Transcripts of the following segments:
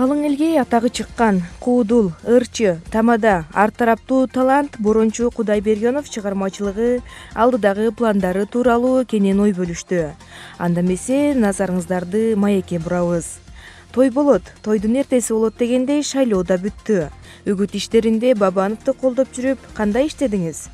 Калың элге атагы чыккан Куудул, ырчы, тамада, ар тараптуу талант Борончу Кудайбергенов чыгармачылыгы алдыдагы пландары тууралуу кенен ой бөлүштү. Анда эмесе назарыңыздарды маекке бурабыз. Той болот, тойдун эртеси болот дегендей шайлоо да бүттү. Үгүт иштеринде Бабановду колдоп жүрүп, кандай иштедиңиз?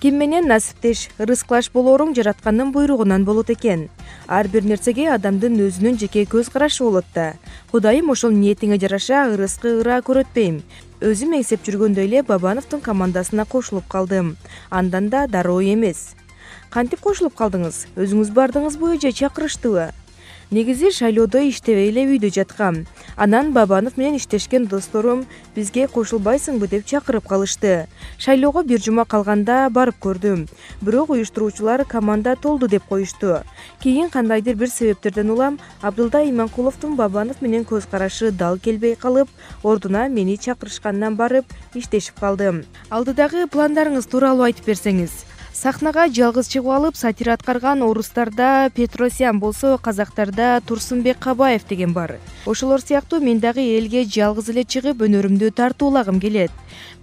Ким менен насиптеш, ырыскылаш болооруң жараткандын буйругунан болот экен. Ар бир нерсеге адамдын өзүнүн жеке көз карашы болот да. Кудайым ошол ниетиңе жараша ырыскы ыра көрөтпөйм. Өзүм эңсеп жүргөндөй эле Бабановдун командасына кошулуп калдым. Андан да дароо эмес. Кантип кошулуп калдыңыз? Өзүңүз бардыңызбы же чакырыштыбы? Негизи шайлоодо иштебей эле үйдө жаткам. Анан Бабанов менен иштешкен досторум бизге кошулбайсыңбы деп чакырып калышты. Шайлоого бир жума калганда барып көрдүм. Бирок уюштуруучулар команда толду деп коюшту. Кийин кандайдыр бир себептерден улам Абдылдай Иманкуловдун Бабанов менен көз карашы дал келбей калып, ордуна мени чакырышкандан барып иштешип калдым. Алдыдагы пландарыңыз тууралуу айтып берсеңиз. Сахнага жалгыз чыгып алып сатира аткарган орустарда Петросян болсо, казактарда Турсунбек Кабаев деген бар. Ошолор сыяктуу мен дагы элге жалгыз эле чыгып өнөрүмдү тартуулагым келет.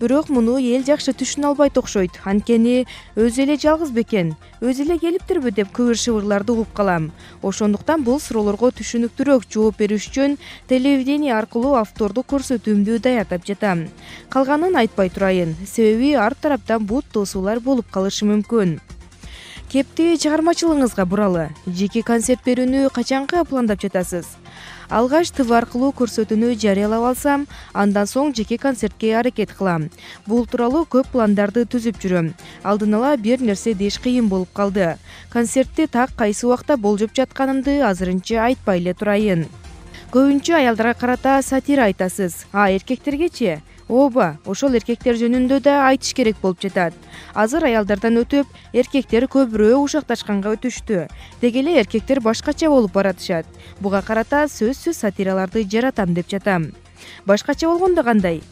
Бирок муну эл жакшы түшүнө албайт окшойт. Анткени өзү эле жалгыз бекен, өзү эле келиптирби деп кыбыр-шыбырларды угуп калам. Ошондуктан бул суроолорго түшүнүктүүрөөк жооп бериш үчүн телевидение аркылуу автордук көрсөтүүмдү даярдап жатам. Калганын айтпай турайын, себеби ар тараптан бут тосуулар болуп калышы мүмкүн. Кепти чыгармачылыгыңызга буралы. Жеке концерт берүүнү качанка пландап жатасыз? Алгач ТВ аркылуу көрсөтүүнү жарыялап алсам, андан соң жеке концертке аракет кылам. Бул тууралуу көп пландарды түзүп жүрөм. Алдын ала бир нерсе деш кыйын болуп калды. Концертти так кайсы убакта болжоп жатканымды азырынча айтпай эле турайын. Көбүнчө аялдарга карата сатира айтасыз. А эркектергечи? Ооба, ошол эркектер жөнүндө да айтыш керек болуп жатат. Азыр аялдардан өтүп, эркектер көбүрөөк ушакташканга өтүштү. Деги эле эркектер башкача болуп баратышат. Буга карата сөзсүз сатираларды жаратам деп жатам. Башкача болгондо кандай?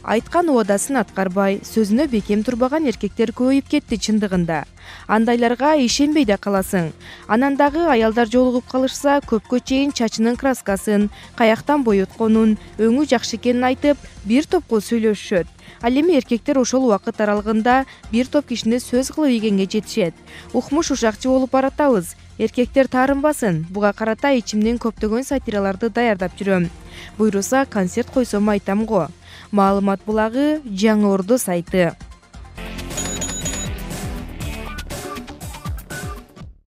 Айткан убадасын аткарбай, сөзүнө бекем турбаган эркектер көбөйүп кетти чындыгында. Андайларга ишенбей да каласың. Анан дагы аялдар жолугуп калышса, көпкө чейин чачынын краскасын, каяктан боyoтконун, өңү жакшы экенин айтып, бир топко сүйлөшүшөт. Ал эми эркектер ошол убакыт аралыгында бир топ кишини сөз кылып ийгенге жетишет. Укмуш ушакчы болуп баратабыз. Эркектер таарынбасын. Буга карата ичимден көптөгөн сатираларды даярдап жүрөм. Буйруса концерт койсом айтам го. Маалымат булагы, Жаңы Ордо сайты.